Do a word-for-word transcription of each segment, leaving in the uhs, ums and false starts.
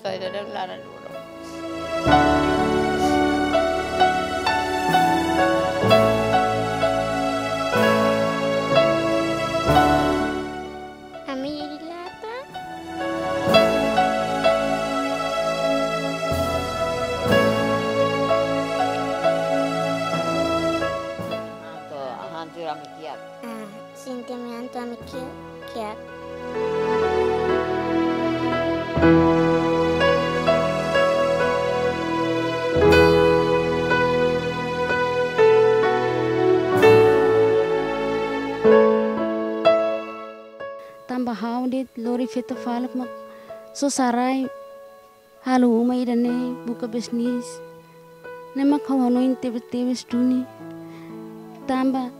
To'o ida-ne'e laran dulu. Ami jadi lata. Anto, ahan tu ami kiak. Ah, sentimentu ami kiak, kiak. Tanba ha'u de'it lori feto faluk mak sosa rai halo uma ida-ne'e buka bisnis. Ne'e mak ha'u hanoin tebetebes duni. Tanba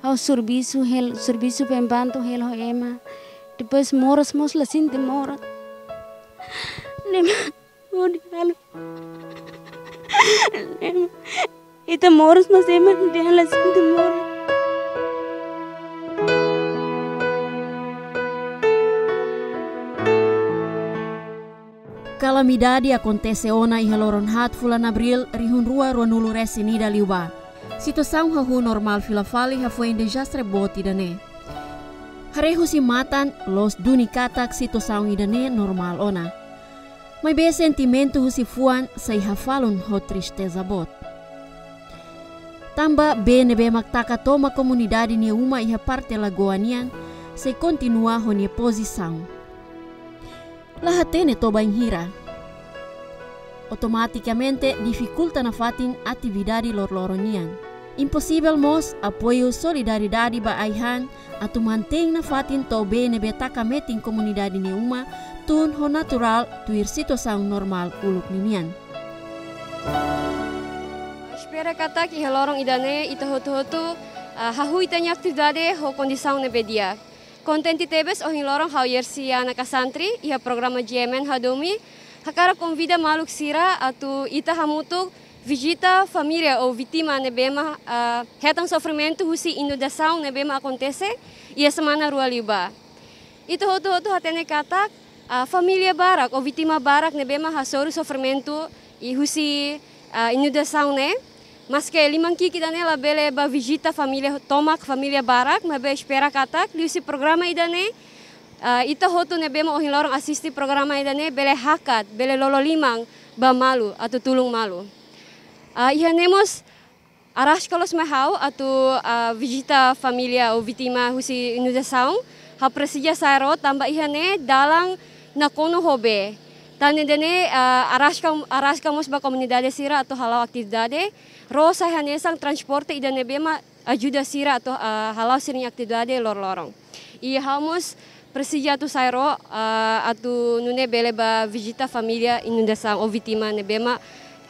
ha'u servisu hela, servisu pembantu hela ho ema. Depois moras mós la sente moras. Ne'e mak hodi halo. Ne'e mak ita moras mas ema dehan la sente moras. Kalamidade akontese ona iha loron haat fulan Abríl rihun rua ruanulu-resin-ida liubá. Situasaun hahú normál fila fali hafoin dezastre boot ida-ne'e. Haree husi matan, loos duni katak situasaun ida-ne'e normál ona. Maibé sentimentu husi fuan sei hafalun ho tristeza boot. Tanba bee ne'ebé mak taka tomak komunidade nia uma iha parte lagoa nian sei kontinua ho nia pozisaun. La hatene to'o bainhira. Automatikamente difikulta nafatin atividade loroloron nian. Imposivel mós apoiu solidariedade ba ai-han atu mantein nafatin to'o bee ne'ebé taka metin komunidade nia uma tun ho naturál tuir situasaun normál uluk ninian. Espera katak iha loron ida-ne'e ita hotu-hotu, ah, hahú ita-nia atividade ho kondisaun ne'ebé di'ak. Kontente tebes ohin loron ha'u Yersiana Kasantri, iha programa G M N Hadomi, hakarak konvida maluk sira atu ita hamutuk vizita família ou vítima ne'ebé mak, ah, hetan sofrimentu husi inundasaun ne'ebé mak akontese iha semana rua liubá. Ita hotu-hotu hatene katak, ah, família barak ou vítima barak ne'ebé mak hasoru sofrimentu husi, ah, inundasaun ne'e. Maske liman ki'ik ida-ne'e labele bá vizita família tomak, família barak, maibé espera katak liuhusi programa ida-ne'e, ah, ita hotu ne'ebé mak ohin loron asiste programa ida-ne'e bele hakat, bele lolo liman ba malu atu tulun malu. Ah, iha ne'e mós araska loos mai ha'u atu, ah, vizita família ou vítima husi inundasaun. Ha'u presiza sa'e ró tanba iha ne'e dalan nakonu ho bee. Tan ne'e ida-ne'e, ah, araska, araska mós ba komunidade sira atu hala'o atividade. Ró sai hanesan transporte ida ne'ebé mak ajuda sira atu, ah, hala'o sira-nia atividade loroloron. I ha'u mós presiza atu sa'e ró, ah, atu nune'e bele bá vizita família inundasaun ou vítima ne'ebé mak,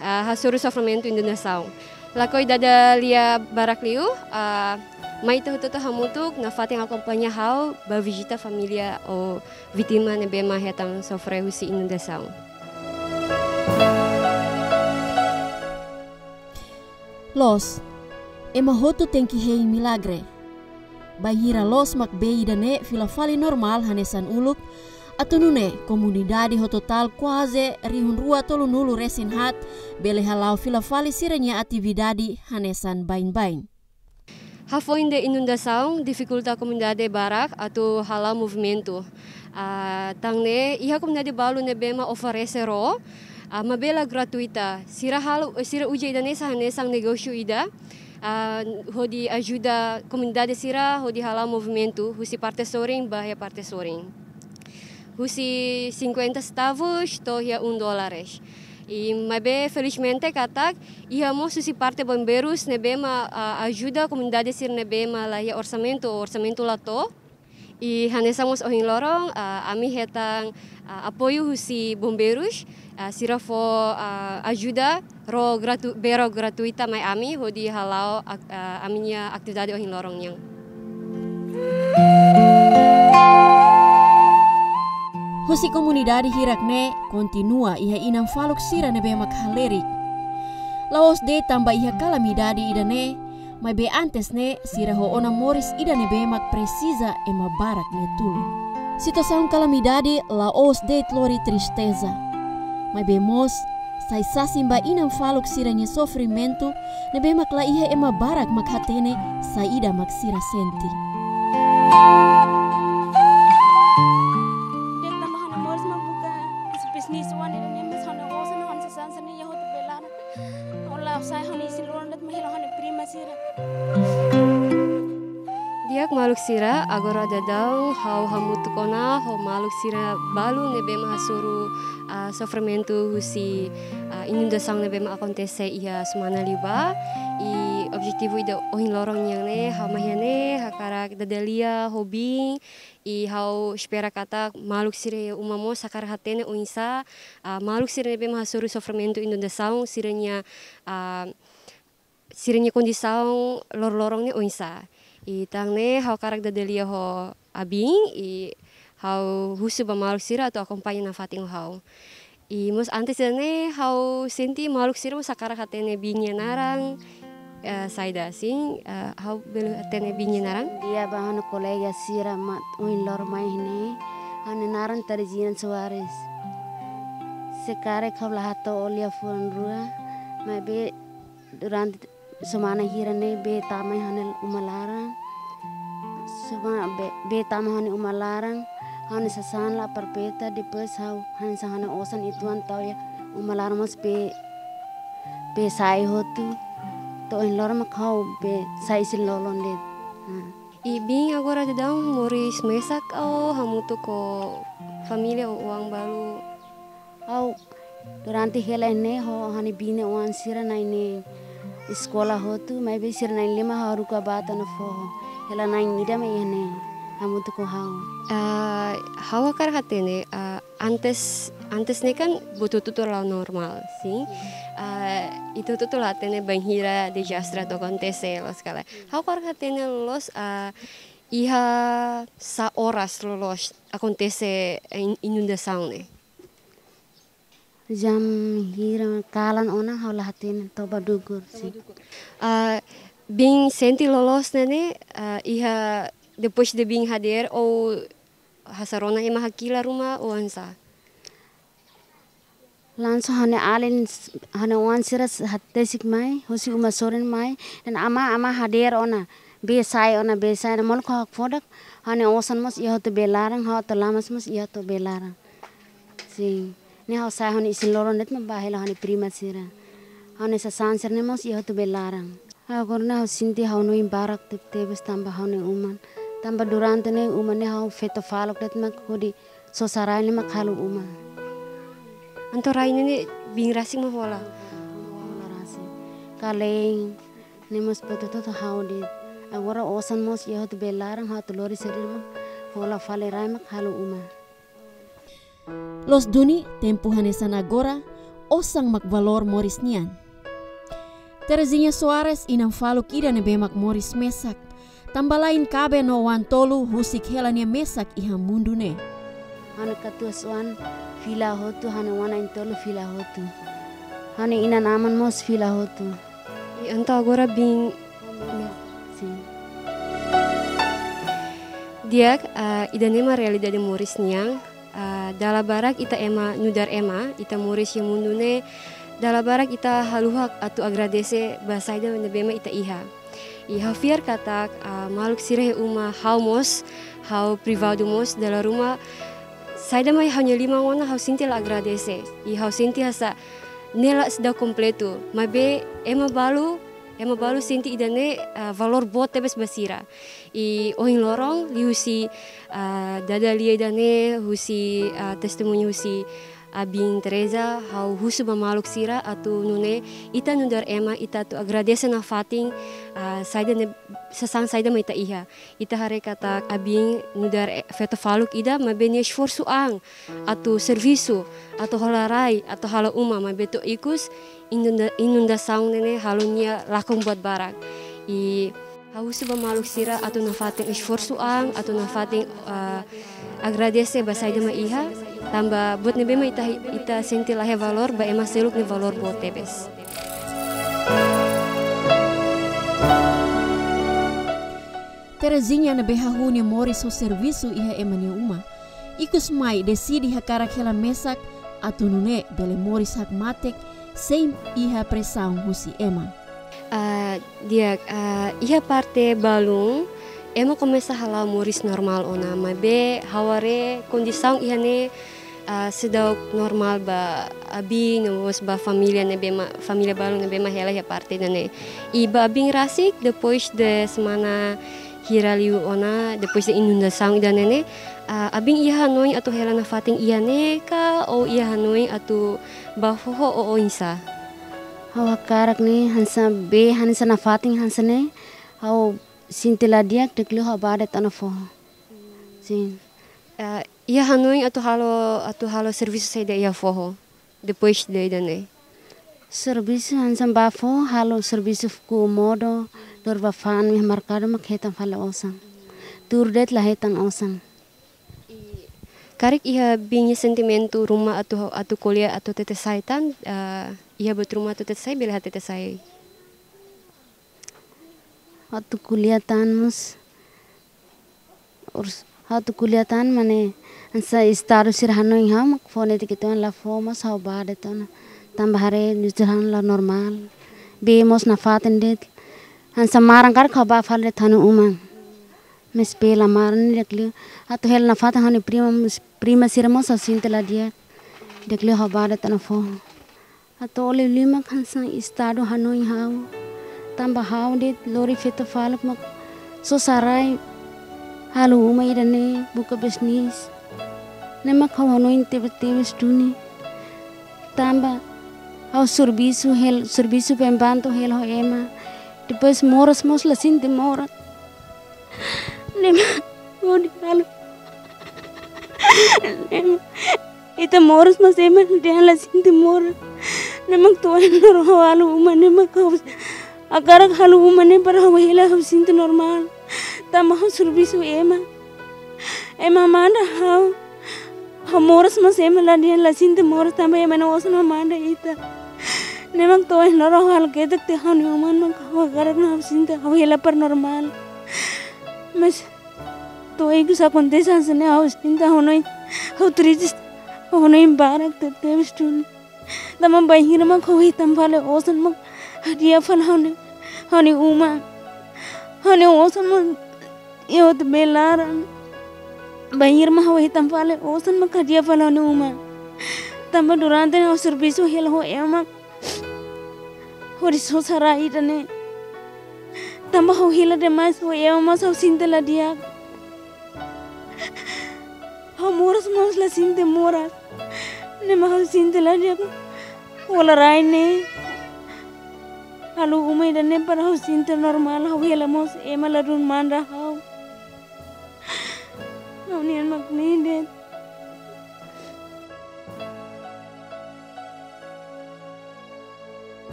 ah, hasoru sofrimentu inundasaun. Lakohi dada lia barak liu, ah, mai ita hotu-hotu hamutuk nafatin akompaña ha'u bá vizita família ou vítima ne'ebé mak hetan sofre husi inundasaun. Loos, ema hotu tenke hein milagre. Bainhira loos mak bee ida-ne'e fila fali normál hanesan uluk, atu nune'e komunidade ho totál kuaze rihun rua tolunulu-resin-haat bele hala'o fila fali sira-nia atividade hanesan baibain. Hafoin de'it inundasaun difikulta komunidade barak atu hala'o movimentu. Ah, tan ne'e iha komunidade balu ne'ebé mak oferese ró, ah, maibé la gratuita. Sira halo, sira uza ida-ne'e sai hanesan negósiu ida, ah, hodi ajuda komunidade sira hodi hala'o movimentu husi parte sorin ba iha parte sorin. Husi cinquenta centavos to'o iha um dólares. I maibé felizmente katak iha mós husi parte bombeirus ne'ebé mak, ah, ajuda komunidade sira ne'ebé mak la iha orsamentu, orsamentu la to'o. I hanesan mós ohin loron, ah, ami hetan, ah, apoiu husi bombeirus, ah, sira fó, ah, ajuda ró gratu-, bee ró gratuita mai ami hodi hala'o ak-, ah, ami-nia atividade ohin loron nian. Husi komunidade hirak ne'e kontinua iha inan faluk sira ne'ebé mak halerik. La'ós de'it tanba iha kalamidade ida-ne'e, maibé antes ne'e sira ho ona moris ida ne'ebé mak presiza ema barak nia tulun. Situasaun kalamidade la'ós de'it lori tristeza. Maibé mós sai sasin ba inan faluk sira-nia sofrimentu, ne'ebé mak la iha ema barak mak hatene saida mak sira sente. De'it tanba ha'u-nia moris mak buka bisnis oan ne'e, mas ha'u-nia osan, ha'u-nia sasán sira-ne'e iha hotu belaran. Ola sai ha'u-nia isin-lolon de'it mak hela ha'u-nia prima sira. Di'ak maluk sira, agora daudaun ha'u hamutuk ona ho maluk sira balu ne'ebé mak hasoru, ah, sofrimentu husi, ah, inundasaun ne'ebé mak akontese iha semana liubá. I objetivu ida ohin loron nian ne'e, ha'u mai iha ne'e hakarak dada lia ho biin, i ha'u espera katak maluk sira-nia uma mós hakarak hatene oinsá, ah, maluk sira ne'ebé mak hasoru sofrimentu inundasaun sira-nia, ah, sira-nia kondisaun loroloron ne'e oinsá. I tan ne'e ha'u hakarak dada lia ho abiin, i ha'u husu ba maluk sira atu akompaña nafatin ho ha'u. I mós antes ida-ne'e ha'u sente maluk sira mós hakarak hatene biin nia naran, eh, saida sin, eh, ha'u bele hatene biin nia naran? Di'ak ba ha'u-nia kolega sira mak ohin loron mai iha ne'e, ha'u-nia naran Terezinha Soares. Se karik ha'u la hato'o lia fulan rua, maibé durante semana hira ne'e bee tama iha ha'u-nia uma laran. Suma bee, bee tama iha ha'u-nia uma laran. Ha'u-nia sasán la aproveita, depois ha'u hanesan ha'u-nia osan uitoan tau iha uma laran mós bee, bee sa'e hotu. To'o ohin loron mak ha'u bee sai isin-lolon de'it. Ha. I biin agora daudaun moris mesak ka hamutuk ho família ou oan balu? Ha'u durante hela ne'e ho ha'u-nia biin nia oan sira na'in-neen eskola hotu, maibé sira na'in-lima ha'u haruka bá to'o ona foho. Hela na'in ida mak iha ne'e hamutuk ho ha'u. Ah, ha'u hakarak hatene, ah, antes, antes ne'e kan buat hotu-hotu la'o normál, sin? Ah, ita hotu-hotu la hatene bainhira dezastre atu akontese, loos ka lae. Ha'u hakarak hatene loos, ah, iha sá oras loloos akontese in-, inundasaun ne'e? Jam hira kalan ona ha'u la hatene, toba dukur, sin. Ah, biin sente loloos ne'e ne'e, ah, iha depois de biin hadeer ou hasai rona ema hakilar ruma ou oinsá? Langsung ha'u-nia alin, ha'u-nia oan sira hatesik mai, husi uma sorin mai, dehan amá, amá hadeer ona, bee sa'e ona, bee sa'e ona, molok ha'u hakfodak, ha'u-nia osan mós iha hotu bee laran, ha'u atu lamas mós iha hotu bee laran. Sin. Ne'e ha'u sai ha'u-nia isin-lolon de'it mak bá hela ha'u-nia prima sira. Ha'u-nia sasán sira-ne'e mós iha hotu bee laran. Agora ne'e ha'u sente ha'u-nia oin barak tebetebes tanba ha'u-nia uma. Tanba durante ne'e uma ne'e ha'u feto faluk de'it mak hodi sosa rai ne'e mak halo uma. Entaun rai ne'e ne'e biin rasik mak hola? Hola rasik. Kalein ne'e mós buat hotu-hotu ha'u de'it. Agora osan mós iha hotu bee laran, ha'u atu lori sira-ne'e mak hola fali rai mak halo uma. Loos duni, tempu hanesan agora, osan mak valór moris nian. Terezinha Soares inan faluk ida ne'ebé mak moris mesak. Tanba la'en kaben no oan tolu husik hela nia mesak iha mundu ne'e. Ha'u-nia katuas-oan fila hotu, ha'u-nia oan na'in-tolu fila hotu. Ha'u-nia inan-aman mós fila hotu. I entaun agora biin. Sin. Di'ak, ah, ida-ne'e mak realidade moris nian. Ah, dala barak ita ema, nu'udar ema, ita moris iha mundu ne'e, dala barak ita haluha atu agradese ba saida ne'ebé mak ita iha. I ha'u fiar katak, ah, maluk sira iha uma, ha'u mós, ha'u privadu mós, dala ruma saida mak iha ha'u-nia liman ona ha'u sente la agradese. I ha'u sente hanesan ne'e la seidauk kompletu. Maibé ema balu, ema balu sente ida-ne'e, ah, valór boot tebes ba sira. I ohin loron liuhusi, ah, dada lia ida-ne'e husi, ah, testemuñu husi abiin Teresa, ha'u husu ba maluk sira atu nune'e ita nu'udar ema ita atu agradese nafatin, ah, saida ne'e, sasán saida mak ita iha. Ita haree katak abiin nu'udar, eh, feto faluk ida, maibé nia esforsu an atu servisu, atu hola rai, atu halo uma, maibé to'o ikus inunda-, inundasaun ne'e ne'e halo nia lakon buat barak. I ha'u husu ba maluk sira atu nafatin esforsu an, atu nafatin, ah, agradese ba saida mak iha, tanba buat ne'ebé mak ita, ita sente la iha valór, ba ema seluk ne'e valór boot tebes. Terezinha ne'ebé hahú nia moris ho servisu iha ema nia uma, ikus mai deside hakarak hela mesak atu nune'e bele moris hakmatek sein iha presaun husi ema. Ah, di'ak, ah, iha parte balun, ema komesa hala'o moris normál ona, maibé ha'u haree kondisaun iha ne'e, ah, seidauk normál ba abin no mós ba família ne'ebé mak, família balun ne'ebé mak hela iha parte ida-ne'e. I ba abin rasik, depois de semana hira liu ona, depois de inundasaun ida-ne'e ne'e, ah, abin iha hanoin atu hela nafatin iha ne'e ka, ou iha hanoin atu bá foho ou oinsá? Ha'u hakarak ne'e hanesan bee hanesan nafatin hanesan ne'e, ha'u sente la di'ak, di'ak liu ha'u bá de'it ona foho. Sin. Eh, iha hanoin atu halo, atu halo servisu saida iha foho, depois de ida-ne'e? Servisu hanesan bá foho, halo servisu fuku modo, lori bá fa'an iha merkadu mak hetan fali osan. Tuur de'it la hetan osan. I karik iha abin nia sentimentu ruma atu, atu ko'alia atu hatete sai tan, eh, iha buat ruma atu hatete sai, bele hatete sai. Atu ko'alia tan mós. Ors-, atu ko'alia tan mane hanesan estadu sira hanoin ha'u mak fó netik uitoan la fó, mas ha'u bá de'it ona. Tanba haree nu'udar han la normál. Bee mós nafatin de'it. Hanesan maran karik ha'u bá fali de'it ha'u-nia uma. Mas bee la maran di'ak liu. Atu hela nafatin ha'u-nia prima mós, prima sira mós ha'u sente la di'ak. Di'ak liu ha'u bá de'it ona foho. Atu ole liu mak hanesan estadu hanoin ha'u. Tanba ha'u de'it lori feto faluk mak sosa rai halo uma ida-ne'e buka bisnis. Ne'e mak ha'u hanoin tebetebes duni. Tanba ha'u servisu hel-, servisu pembantu hela ho ema. Depois moras mós la sente moras. Ne'e mak hodi halo. Ne'e mak ita moras mas ema dehan la sente moras. Ne'e mak to'o ohin loron ha'u halo uma ne'e mak ha'u hakarak halo uma ne'e para ha'u hela ha'u sente normál. Tanba ha'u servisu ema. Ema manda ha'u. Ha'u moras mas ema la dehan la sente moras tanba ema nia osan mak manda ita. Ne'e mak to'o ohin loron ha'u halo ketak tiha ha'u-nia uma mak ha'u hakarak ha'u sente ha'u hela para normál. Mas to'o ikus akontese hanesan ne'e ha'u sente ha'u hanoin, ha'u triste, ha'u hanoin barak tebetebes duni. Tanba bainhira mak ha'u hetan fali osan mak hadi'a fali ha'u-nia, ha'u-nia uma. Ha'u-nia osan mak iha hotu bee laran. Bainhira mak ha'u hetan fali osan mak hadi'a fali ha'u-nia uma. Tanba durante ne'e ha'u servisu hela ho ema mak hodi sosa rai ida-ne'e. Tanba ha'u hela demais ho ema mas ha'u sente la di'ak. Ha'u moras mas la sente moras. Ne'e mak ha'u sente la di'ak. Hola rai ne'e. Halo uma ida-ne'e para ha'u sente normál, ha'u hela mós ema ladún manda ha'u. Ha'u-nian mak ne'e de'it.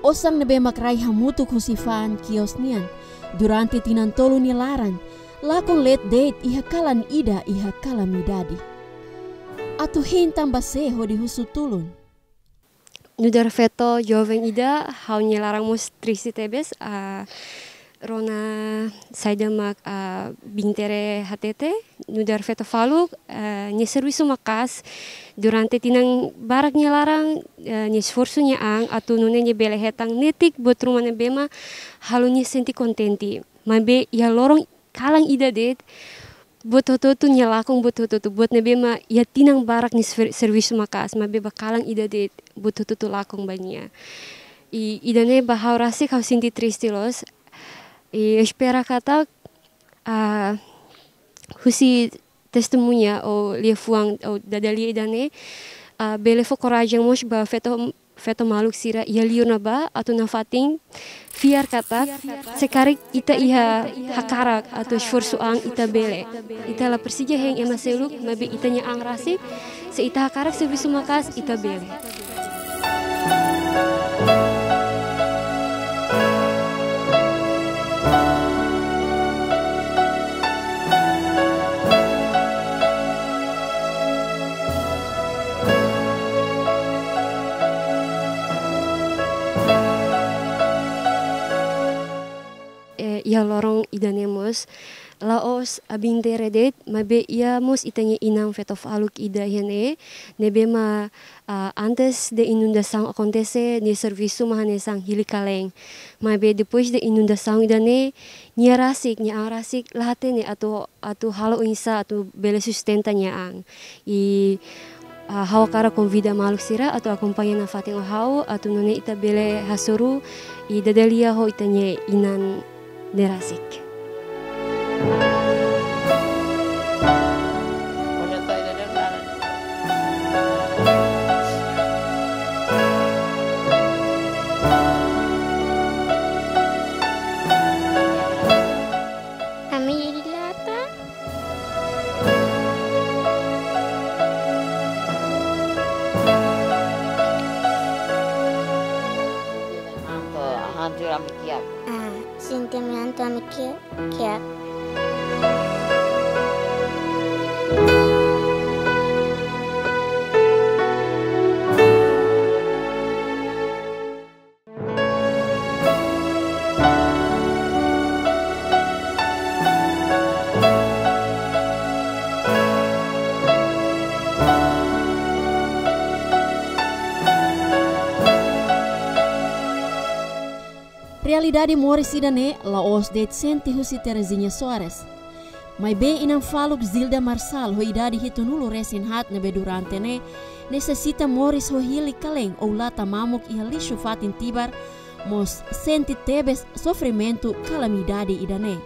Osan ne'ebé mak rai hamutuk husi fa'an kios nian durante tinan tolu nia laran, lakon leet de'it iha kalan ida iha kalamidade. Atu hein tanba sé hodi husu tulun? Nu'udar feto joven ida, ha'u-nia laran mós triste tebes, ah, rona saida mak, ah, Bintere hatete, nu'udar feto faluk, ah, nia servisu maka'as durante tinan barak nia laran, ah, nia esforsu nia an atu nune'e nia bele hetan netik buat ruma ne'ebé mak halo nia sente kontente. Maibé iha loron kalan ida de'it, buat hotu-hotu nia lakon, buat hotu-hotu, buat ne'ebé mak iha tinan barak nia ser-, servisu maka'as, maibé ba kalan ida de'it buat hotu-hotu lakon ba nia. I, ida-ne'e ba ha'u rasik ha'u sente triste loos. I espera katak, ah, husi testemuña ou liafuan ou dada-lia ida-ne'e, ah, bele fó korajen mós ba feto, feto maluk sira iha liur ne'ebá atu nafatin fiar katak se karik ita iha hakarak atu esforsu an ita bele. Ita la presiza hein ema seluk, maibé ita-nia an rasik, se ita hakarak servisu maka'as ita bele. Eh, iha loron ida-ne'e mós, la'ós abin dere de'it, maibé iha mós ita-nia inan feto faluk ida iha ne'e, ne'ebé mak, ah, antes de inundasaun akontese, nia servisu mak hanesan hili kalen. Maibé depois de inundasaun ida-ne'e, nia rasik, nia an rasik, la hatene atu, atu halo oinsá atu bele sustenta nia an. I, ah, ha'u hakarak konvida maluk sira atu akompaña nafatin ho ha'u, atu nune'e ita bele hasoru i dada lia ho ita-nia inan ne'e rasik. Ami hili lata. Sentimentu ami kiak. Ah, sentimentu ami kiak, kiak. Realidade moris ida-ne'e la'ós de'it sente husi Terezinha Soares. Maibé inan faluk Zilda Marçal ho idade hitunulu resin haat ne'ebé durante ne'e nesesita moris ho hili kalen ou lata mamuk iha lixu fatin Tibar, mós sente tebes sofrimentu kalamidade ida-ne'e.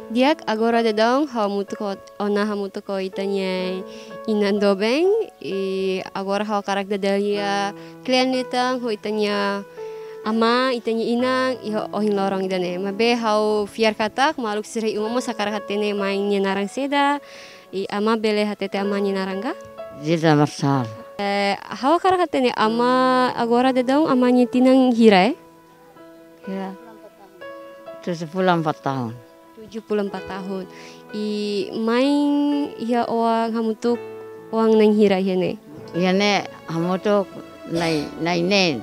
Di'ak, agora daudaun ha'u hamutuk ho, ona hamutuk ho ita-nia inan doben, i agora ha'u hakarak dada lia kle'an liután ho ita-nia amá, ita-nia inan, iha ohin loron ida-ne'e. Maibé ha'u fiar katak maluk sira iha uma mós hakarak hatene mãe nia naran saida, i amá bele hatete amá nia naran ka? Zilda Marçal. Eh, ha'u hakarak hatene amá agora daudaun amá nia tinan hira, eh? Ya. Tujuh puluh empat tahun. Tujuh puluh empat tahun. I mãe iha oan hamutuk oan na'in hira iha ne'e? Iha ne'e hamutuk na'in, na'in neen.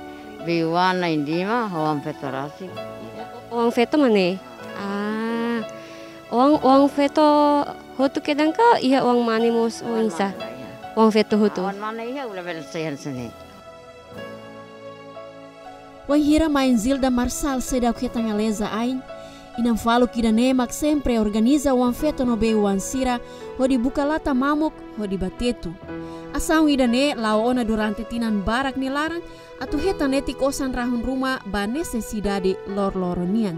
Bei-oan na'in lima, ho oan feto rasik. Oan feto mak ne'e? Ah. Oan, oan feto hotu kedan ka iha oan mane mós oinsá? Oan mane, ya. Oan feto hotu. Oan mane iha, ula bele sai hanesan ne'e. Wainhira mãe Zilda Marçal seidauk hetan aleza ain, inan faluk ida-ne'e mak sempre organiza oan feto no bei-oan sira hodi buka lata mamuk hodi ba tetu. Asaun ida-ne'e la'o ona durante tinan barak nia laran, atu hetan netik osan rahun ruma ba nesesidade loroloron nian.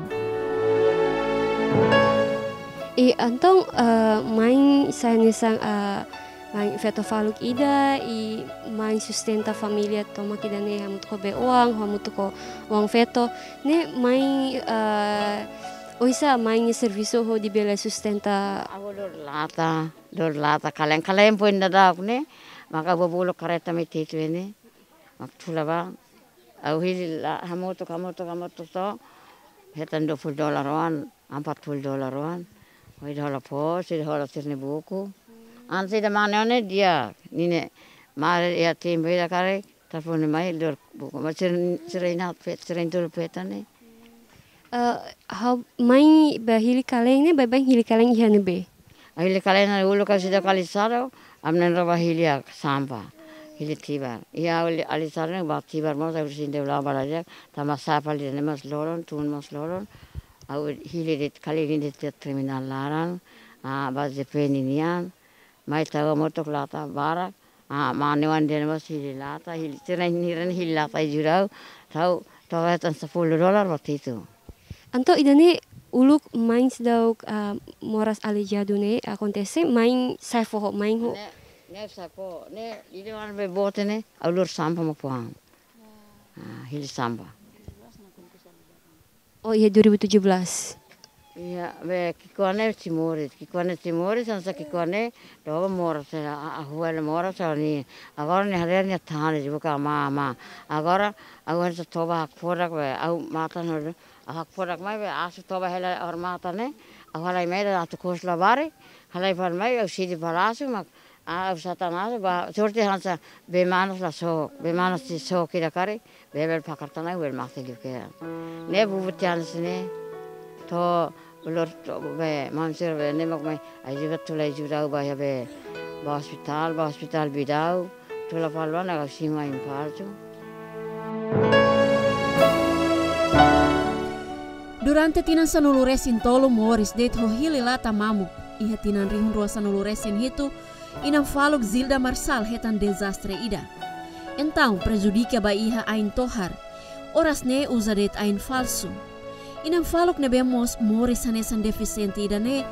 I entaun, eh, mãe sai hanesan, eh, mãe feto faluk ida, i mãe sustenta família tomak ida-ne'e hamutuk ho bei-oan, hamutuk ho oan feto. Ne'e mãe, eh, oinsá mãe nia servisu hodi bele sustenta? Ha'u lori lata, lori lata kalen-kalen foin daudauk ne'e, maka bobolo kareta mai tetu ne'e, mak tula ba. Ha'u hili la-, hamutuk, hamutuk, hamutuk to'o hetan dua puluh dolar oan, empat puluh dolar oan. Hodi hola pos, hodi hola sira-nia buku. Antes ida mane ne'e di'ak, ninia mane iha tempu ida karik, telefone mai lori buku. Mas sira, sira inan feto, sira inan tolu feto ne'e. Eh, ha'u mãe ba hili kalen ne'e, baibain hili kalen iha ne'ebé? Hili kalen ne'e uluk ha'u seidauk alisadu, ami na'in-rua ba hili iha sampah, hili Tibar. Iha ha'u alisadu ne'e ba Tibar mós ha'u sente uluk ba la di'ak, tanba sampah hili ne'e mós loroloron, tun mós loroloron. Ha'u hili de'it kalen de'it terminál laran, ah, ba J P ninian, mai tau hamutuk lata barak, ah, mane oan dehan mós hili lata, hili, sira na'in hira ne'e hili lata iha Jirau, tau, tau hetan sepuluh dolar ba tetu. Entaun ida-ne'e uluk mãe seidauk, ah, moras aleijadu ne'e akontese, mãe sa'e foho, mãe ho. Ne'e, ne'e sa'e foho, ne'e ida-ne'ebé boot ne'e, ha'u lori sampah mak fó an. Ah, hili sampah. Oh, iha dua ribu tujuh belas. Iha, be, ki'ikoan ne'e sei moris, ki'ikoan ne'e sei moris, hanesan ki'ikoan ne'e, toba moras, a, a, ha'u hela moras, ha'u-nia, agora nia haree nia tane, buka amá, amá. Agora, ha'u hanesan toba hakfodak, be, ha'u matan hodi, ha'u hakfodak mai, be, asu toba hela ha'u-nia matan ne'e, ha'u halai mai atu kos labarik, halai fali mai, ha'u sidi fali asu, mak, Ah, usa tanah ba, sorte hanesan, bee manas la sook, bee manas sei sook ida karik, bee bele fakar tanah, bele mate liu kedas. Ne'e bubu tiha hanesan ne'e, to'o ulur to'o bee, maun sira bee, ne'e mak mai, ajuda tula ajuda ba iha bee, ba ospitál, ba ospitál Bidau, tula fali ona ka sima infartu. Durante tinan sanulu-resin-tolu moris de'it ho hili lata mamuk, iha tinan rihun rua sanulu-resin-hitu, inan faluk Zilda Marçal hetan dezastre ida. Entaun, prejudika ba iha ain tohar. Oras ne'e uza de'it ain falsu. Inan faluk ne'ebé mós moris hanesan defisiente ida-ne'e,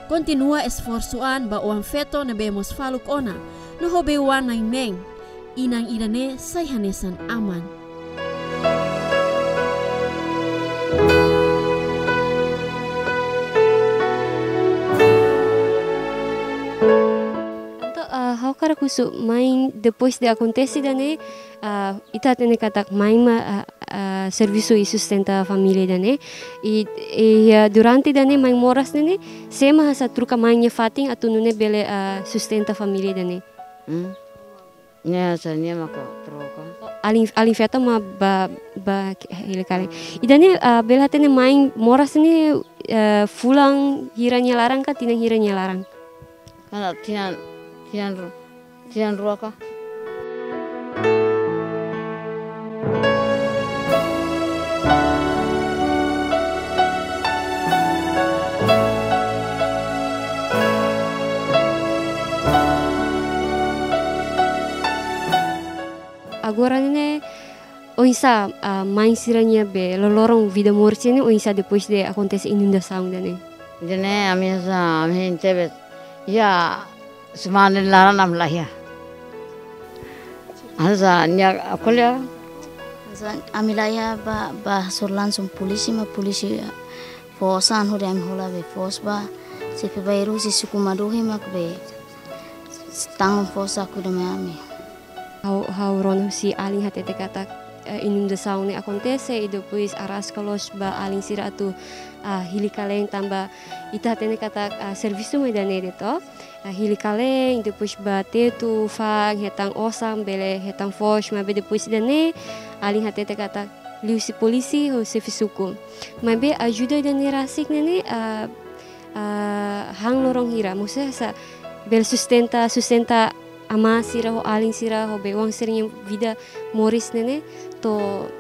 kontinua esforsu an ba oan-feto ne'ebé mós faluk ona, no ho bee-oan na'in-neen, inan ida-ne'e sai hanesan aman. Entaun, ah, ha'u hakarak husu, main, depois de akontese ida-ne'e, ah, ita hatene katak main mak, ah, ah, servisu i sustenta família ida-ne'e. I, i, ah, durante ida-ne'e main moras ne'e ne'e, sé mak hanesan troka main nia fatin atu nune'e bele, ah, sustenta família ida-ne'e? Hmm. Ne'e hanesan nia maka troka. Alin, alin-feto mak ba, ba hili-kalen. Ida-ne'e, ah, bele hatene main moras ne'e, eh, fulan hira nia laran ka tinan hira nia laran? Kana tinan, tinan ru-, tinan rua ka? Agora ne'e oinsá, ah, main sira-nia be loroloron vida moris ne'e oinsá depois de akontese inundasaun ida-ne'e? Ida-ne'e ami hanesan, ami hein tebes. Ya, semana laran ami la iha. Hanesan nia ko'alia. Hanesan ami la iha ba, ba hasoru langsung polísia, mak polísia fó osan hodi ami hola be foos ba. Xefe bairru husi suku Madohi mak be tanggung foos saku ida mai ami. Ha'u, ha'u rona husi alin hatete katak, eh, inundasaun ne'e akontese, i depois araska loos ba alin sira atu, ah, hili-kalen tanba ita hatene katak, ah, servisu mak ida-ne'e de'it, to'o. Ah, hili-kalen, depois ba tetu, fa'an, hetan osan, bele hetan foos, maibé depois ida-ne'e, alin hatete katak liuhusi polísia ho xefe suku. Maibé ajuda ida-ne'e rasik ne'e ne'e, ah, ah, han loron hira, maksudnya hanesan bele sustenta, sustenta amá sira ho alin sira ho be-oan sira-nia vida moris ne'e ne'e to'o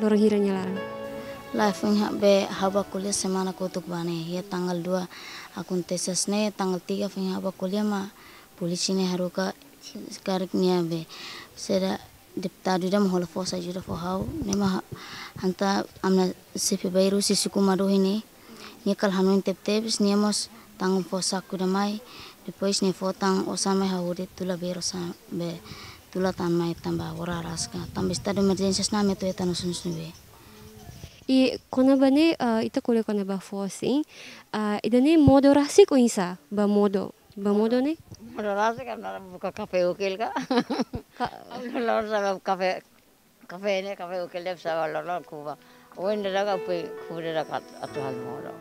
loron hira nia laran. Lae, foin ha'u be ha'u bá ko'alia semana kotuk bá ne'e, iha tanggal dua akontese ne'e, tanggal tiga foin ha'u bá ko'alia mak polísia ne'e haruka karik nia be saida deputadu ida mak hola foos ajuda fó ha'u, ne'e mak ha-, hanesan ami-nia xefe bairru husi suku Madohi ne'e, nia kala hanoin tebetebes, nia mós tanggung foos saku ida mai, depois nia fó tan osan mai ha'u hodi tula bee osan be tula tan mai tanba agora araska. Tanba estadu emerjénsia ne'e ami atu hetan osan ne'ebé. I kona-ba ne'e, ah, ita ko'alia kona-ba foos, sin. Ah, ida-ne'e modo rasik oinsá, ba modo. Ba modo ne'e? Modo rasik ami la buka kafé ukil ka. Ka- Ami la buka kafé, kafé ne'e, kafé ukil ne'e sá ba loroloron kuba. Oin dadauk ka pui kuba dadauk atu halo modo.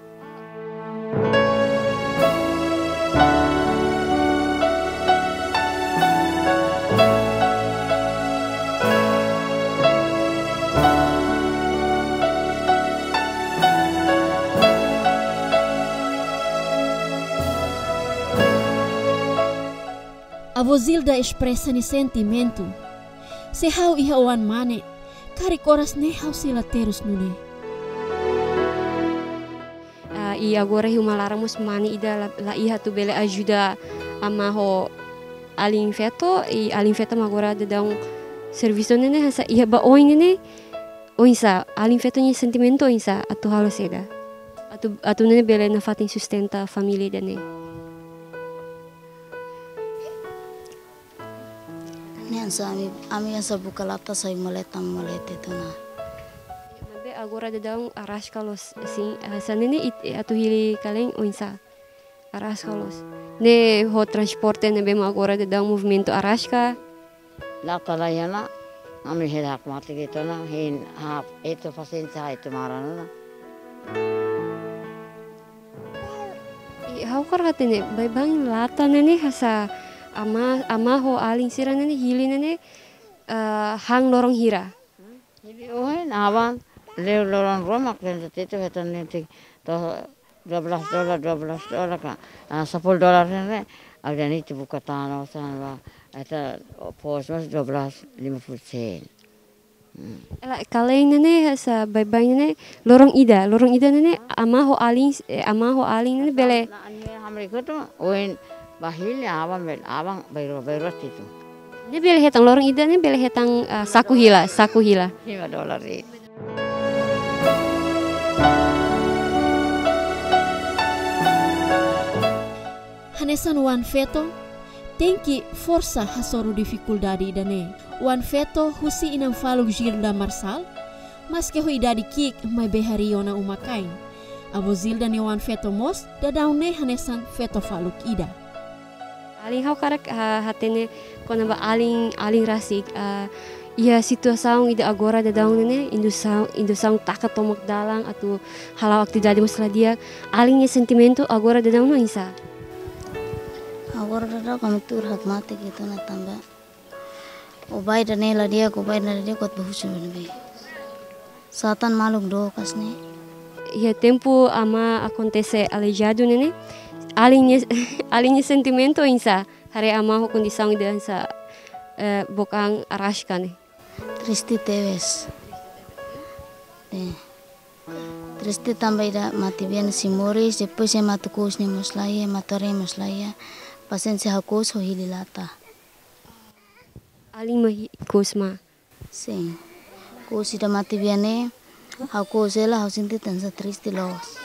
Avó Zilda espresa nia sentimentu. Se ha'u iha oan mane, karik oras ne'e ha'u sei la terus nune'e. Ah, i agora iha uma laran mós mane ida la, la iha atu bele ajuda amá ho alin-feto, i alin-feto mak agora daudaun servisu ne'e ne'e hanesan iha ba oin ne'e ne'e, oinsá, alin-feto nia sentimentu oinsá, atu halo saida. Atu, atu nune'e bele nafatin sustenta família ida-ne'e. Ne'e hanesan ami, ami hanesan buka lata sai maleta malete tiha ona. Maibé agora daudaun araska loos, sin, hanesan ne'e ne'e it-, atu hili-kalen oinsá. Araska loos. Ne'e ho transporte ne'ebé mak agora daudaun movimentu araska. Lata la iha ona, ami hela hakmatek de'it ona, hein ha'u etu pasiénsia, etu maran ona. I ha'u hakarak hatene, baibain lata ne'e ne'e hanesan amá, amá ho alin sira ne'e ne'e, hili ne'e ne'e, eh, han loron hira? Hili ohin, aban, leu loron rua mak tenke tetu hetan netik to'o dua belas dolar, dua belas dolar ka, ah, sepuluh dolar ne'e ne'e, au dehan ita buka tan osan ba, ita pos mas dua belas lima puluh sen. Hmm. Hela, kale'en ne'e ne'e, hanesan baibain ne'e ne'e, loron ida, loron ida ne'e ne'e, amá ho alin, eh, amá ho alin ne'e ne'e bele. Na, nia hamriik hotu, ohin ba hili, aban bele, aban bainrua, bainrua tetu. Ne'e bele hetan loron ida ne'e bele hetan, ah, saku hila, saku hila. Lima dolar de'it. Hanesan oan-feto, tenke forsa hasoru difikuldade ida-ne'e. Oan-feto husi inan faluk Gilda Marçal, maske ho idade ki'ik maibé harii ona uma-kain. Avó Gilda nia oan-feto mós daudaun ne'e hanesan feto faluk ida. Alin, ha'u hakarak, ah, hatene kona-ba alin, alin rasik, ah, iha situasaun ida agora daudaun ne'e ne'e, indusaun, indusaun taka tomak dalan atu hala'o atividade mós la di'ak. Alin nia sentimentu agora daudaun ne'e oinsá? Agora daudaun ami tuur hakmatek ita-nia tanba. Ó bai ida-ne'e la di'ak, ó bai ida-ne'e la di'ak, kuat ba husu ne'ebé. Satan maluk dook hanesan ne'e. Iha tempu amá akontese Aleijadu ne'e ne'e, alin nia, alin nia sentimentu oinsá? Haree amá ho kondisaun ida hanesan, eh, book an araska ne'e. Triste tebes. Eh. Triste tanba ida matebian sei moris, depois ema atu kous nia mós la iha, ema atu haree mós la iha. Pasiénsia ha'u kous ho hili lata. Alin mak hi-, kous mak? Sin. Kous ida matebian ne'e, ha'u kous hela, ha'u sente hanesan triste loos.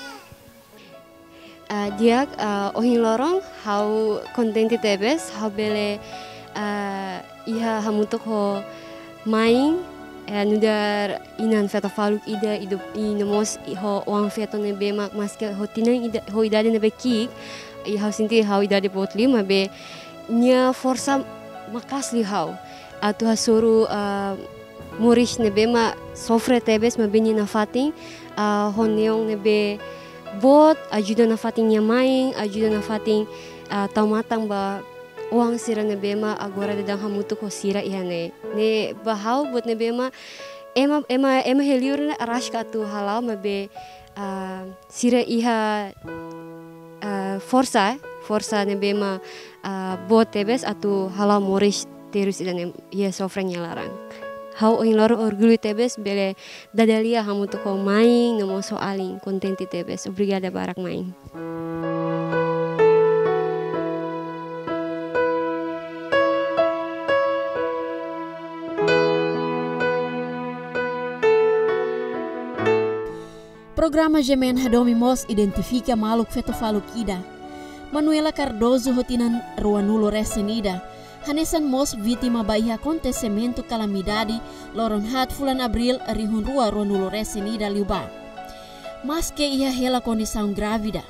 Ah, di'ak, ah, ohin loron ha'u kontente tebes, ha'u bele, ah, iha hamutuk ho main, eh, nu'udar inan feto faluk ida, i do-, i no mós i ho oan-feto ne'ebé mak, maske ho tinan ida, ho idade ne'ebé ki'ik, i ha'u sente ha'u idade boot liu, maibé nia forsa maka'as liu ha'u atu hasoru, ah, moris ne'ebé mak sofre tebes, maibé nia nafatin, ah, ho neon ne'ebé boot, ajuda nafatin nia main, ajuda nafatin, ah, tau matan ba oan sira ne'ebé mak agora daudaun hamutuk ho sira iha ne'e. Ne'e ba ha'u buat ne'ebé mak ema, ema, ema iha li'ur ne'e araska atu hala'o, maibé, ah, sira iha, ah, forsa, forsa ne'ebé mak, ah, boot tebes atu hala'o moris terus ida-ne'e iha sofre nia laran. Ha'u ohin loron orgullu tebes bele dada lia hamutuk ho main no mós ho alin, kontente tebes. Obrigada barak main. Programa G M N hadomi mós identifika maluk feto faluk ida. Manuela Cardoso ho tinan ruanulu resin ida, hanesan mós vítima ba iha akontesimentu kalamidade loron haat fulan Abríl rihun rua ruanulu resin ida liubá. Maske iha hela kondisaun grávida,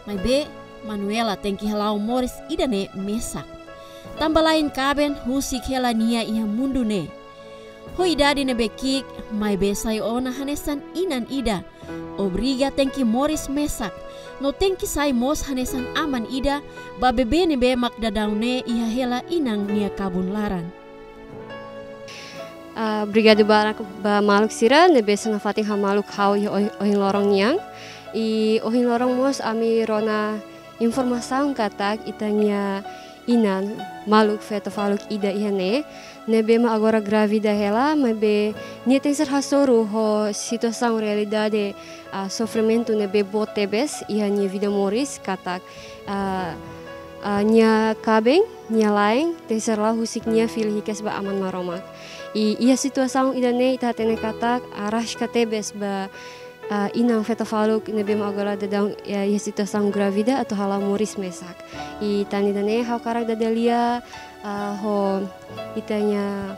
maibé Manuela tenke hala'o moris ida-ne'e mesak. Tanba la'en kaben husik hela nia iha mundu ne'e. Ho idade ne'ebé ki'ik, maibé sai ona hanesan inan ida. Obriga tenke moris mesak, no tenke sai mós hanesan aman ida ba bebé ne'ebé mak daudaun ne'e iha hela inan nia kabun laran. Ah, obrigadu barak ba maluk sira ne'ebé sei nafatin hamaluk ha'u iha ohi-, ohin loron nian. I ohin loron mós ami rona informasaun katak ita-nia inan, maluk feto faluk ida iha ne'e, ne'ebé mak agora grávida hela, maibé nia tenke ser hasoru ho situasaun realidade, ah, sofrimentu ne'ebé boot tebes iha nia vida moris, katak, ah, ah, nia kaben, nia la'en, tenke ser la'o husik nia fila hikas ba Aman Maromak. I iha situasaun ida-ne'e ita hatene katak araska tebes ba, ah, inan feto faluk ne'ebé mak agora daudaun, ya, iha situasaun grávida atu hala'o moris mesak. I tan ida-ne'e ha'u hakarak dada lia, ah, ho ita-nia,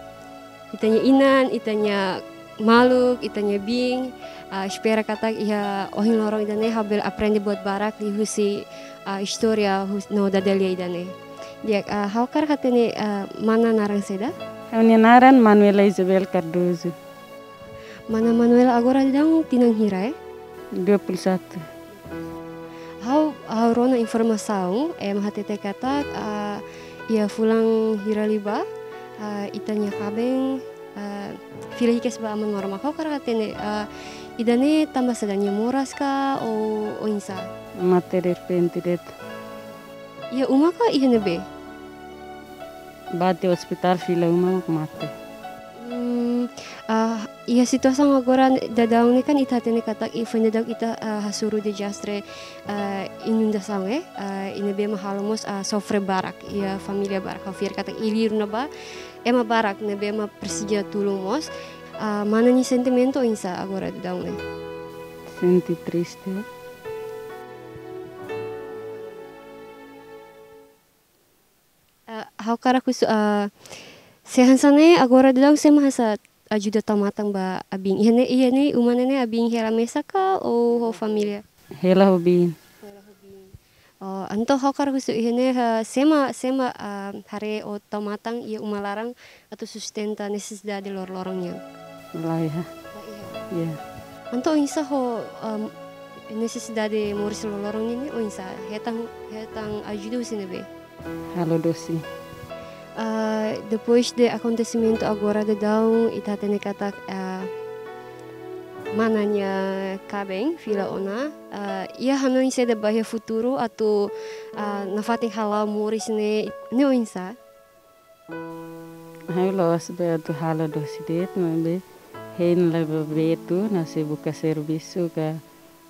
ita-nia inan, ita-nia maluk, ita-nia biin, ah, espera katak iha ohin loron ida-ne'e ha'u bele aprende buat barak liuhusi, ah, istória hus-, no dada lia ida-ne'e. Di'ak, ah, ha'u hakarak hatene, ah, mana naran saida? Ha'u-nia naran Manuela Isabel Cardoso. Mana Manuela agora daudaun tinan hira, eh? Dua puluh satu. Ha'u, ha'u rona informasaun, ema hatete katak, ah, Iha fulan hira liubá, ah, ita-nia kaben, ah, fila hikas ba aman maromak. Ha'u hakarak hatene, ah, ida-ne'e tanba saida, nia moras ka ou oinsá? Mate derrepente de'it. Iha uma ka iha ne'ebé? Bá to'o ospitál, fila uma mak mate. Hmm, ah, iha situasaun agora daudaun ne'e kan ita hatene katak iha foin daudauk ita, ah, hasoru dezastre, ah, inundasaun, eh, ah, i ne'ebé mak halo mós, ah, sofre barak iha família barak. Ha'u fiar katak iha li'ur ne'ebá ema barak ne'ebé mak presiza tulun mós. Ah, mana nia sentimentu oinsá agora daudaun ne'e? Sente triste. Ah, ha'u hakarak husu, ah, se hanesan ne'e agora daudaun sé mak hanesan ajuda tau matan ba abin? Iha ne'e, iha ne'e uma ne'e ne'e abin hela mesak ka ou ho família? Hela ho biin. Oh, entaun ha'u hakarak husu iha ne'e, ah, sé mak, sé mak, ah, haree ou tau matan iha uma laran atu sustenta nesesidade loroloron nian? Laiha. Laiha. Ya. Entaun oinsá ho, ah, nesesidade moris loroloron nian ne'e oinsá? Hetan, hetan ajuda husi ne'ebé? Halo dosi. Ah, depois de akontesimentu agora daudaun, ita hatene katak, ah, mana nia kaben fila ona, ah, iha hanoin saida ba iha futuru atu, ah, nafatin hala'o moris ne'e, ne'e oinsá? Ha'u la'ós bá atu halo dosi de'it, maibé hein la'o bá Betu, atu sei buka servisu ka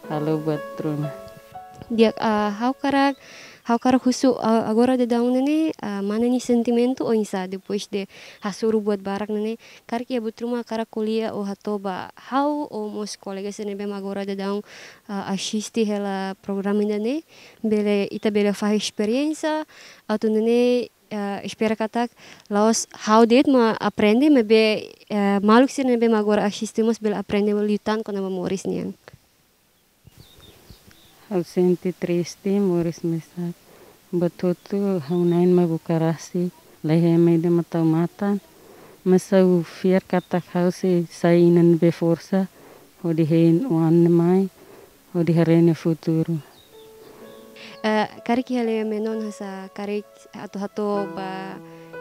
halo buat ruma. Di'ak, ah, ha'u hakarak, ha'u hakarak husu, ah, agora daudaun ne'e ne'e, ah, mana nia sentimentu oinsá depois de hasoru buat barak ne'e ne'e, karik iha buat ruma hakarak ko'alia ou hato'o ba ha'u ou mós kolega sira ne'ebé mak agora daudaun, ah, asiste hela programa ida-ne'e, bele, ita bele fahe esperiénsia, atu nune'e, eh, espera katak la'ós ha'u de'it mak aprende, maibé, eh, maluk sira ne'ebé mak agora asiste mós bele aprende liután kona-ba moris nian. Ha'u sente triste, moris mesak. Buat hotu ha'u-nia na'in mak buka rasik, laiha ema ida mak tau matan. Mas ha'u fiar katak ha'u sei sai inan ne'ebé forsa, hodi hein oan ne'e mai, hodi haree nia futuru. Eh, karik iha lei menor hanesan karik atu hato'o ba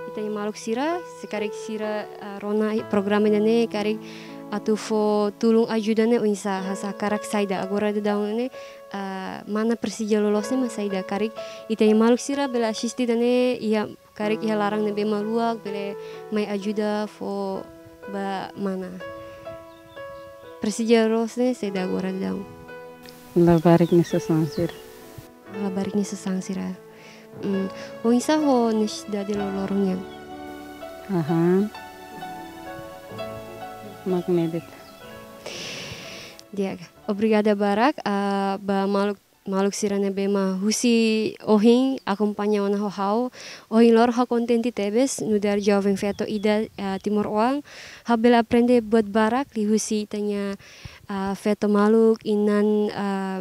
ita-nia maluk sira, se karik sira, eh, rona programa ida-ne'e, karik atu fó tulun ajuda ne'e oinsá, hanesan hakarak saida, agora daudaun ne'e, eh, mana presiza loloos ne'e mak saida, karik ita-nia maluk sira bele asiste ida-ne'e, iha karik iha laran ne'ebé mak luak, bele mai ajuda fó ba mana. Presiza loloos ne'e saida agora daudaun? Labarik nia sasán sira. Labarik nia sasán sira. Hmm. Oinsá ho nesesidade loroloron nian? Aha. Mak ne'e de'it. Di'ak, obrigada barak, ah, ba maluk maluk sira ne'ebé mak husi ohin akompaña ona ho ha'u. Ohin loron ha'u kontente tebes nu'udar joven feto ida, eh, timoroan. Ha'u bele aprende buat barak liuhusi ita-nia, eh, feto maluk, inan, eh,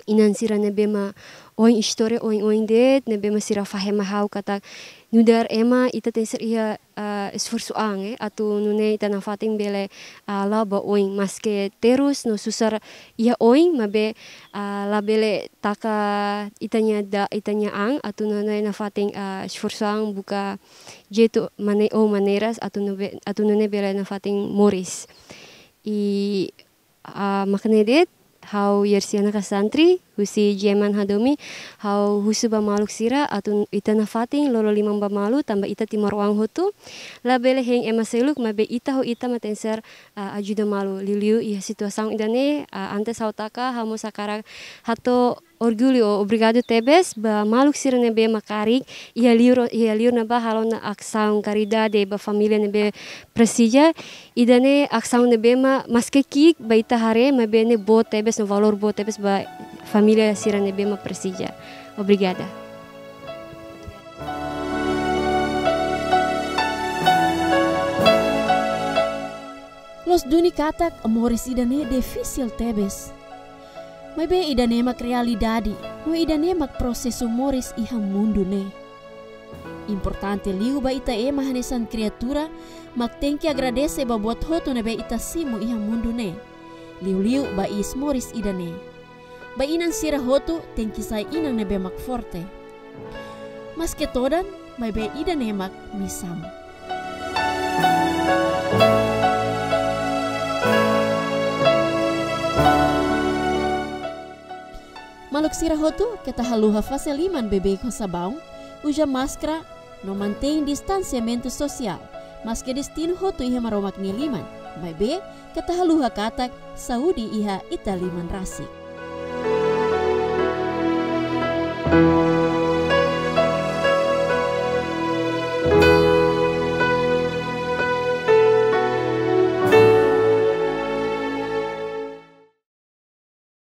inan sira ne'ebé mak oin istória oin-oin de'it, ne'ebé mak sira fahe mai ha'u katak nu'udar ema ita tenke ser iha, ah, esforsu an, eh, atu nune'e ita nafatin bele, ah, la'o ba oin, maske terus no susar iha oin, maibé, ah, labele taka ita-nia da-, ita-nia an, atu nune'e nafatin, ah, esforsu an buka jeitu mane-, ou maneiras atu nube-, atu nune'e bele nafatin moris. I ah, mak ne'e de'it, ha'u Yersiana Kasantri, husi Jeman Hadomi, ha'u husu ba maluk sira, atu ita nafatin lolo liman ba malu, tanba ita timoroan hotu, labele hein ema seluk, maibé ita ho ita mak tenke ser, ah, ajuda malu. Liuliu iha situasaun ida-ne'e, ah, antes ha'u taka, ha'u mós hakarak hato'o orgullu ou obrigadu tebes ba maluk sira ne'ebé mak karik iha liur, iha liur ne'ebá halo ona asaun karidade ba família ne'ebé presiza. Ida-ne'e asaun ne'ebé mak maske ki'ik ba ita haree, maibé ne'e boot tebes no valór boot tebes ba família sira ne'ebé mak presiza. Obrigada. Loos duni katak moris ida-ne'e difisil tebes. Maibé ida-ne'e mak realidade, no ida-ne'e mak prosesu moris iha mundu ne'e. Importante liu ba ita ema hanesan kriatura, mak tenke agradese ba buat hotu ne'ebé ita simu iha mundu ne'e. Liuliu ba iis moris ida-ne'e. Ba inan sira hotu tenke sai inan ne'ebé mak forte. Maske todan, Maibé ida-ne'e mak misaun. Maluk sira hotu, keta haluha fase liman beibeik ho sabaun, uza máskara, no mantein distansiamentu sosiál, maske destinu hotu iha Maromak nia liman, maibé keta haluha katak saúde iha ita liman rasik.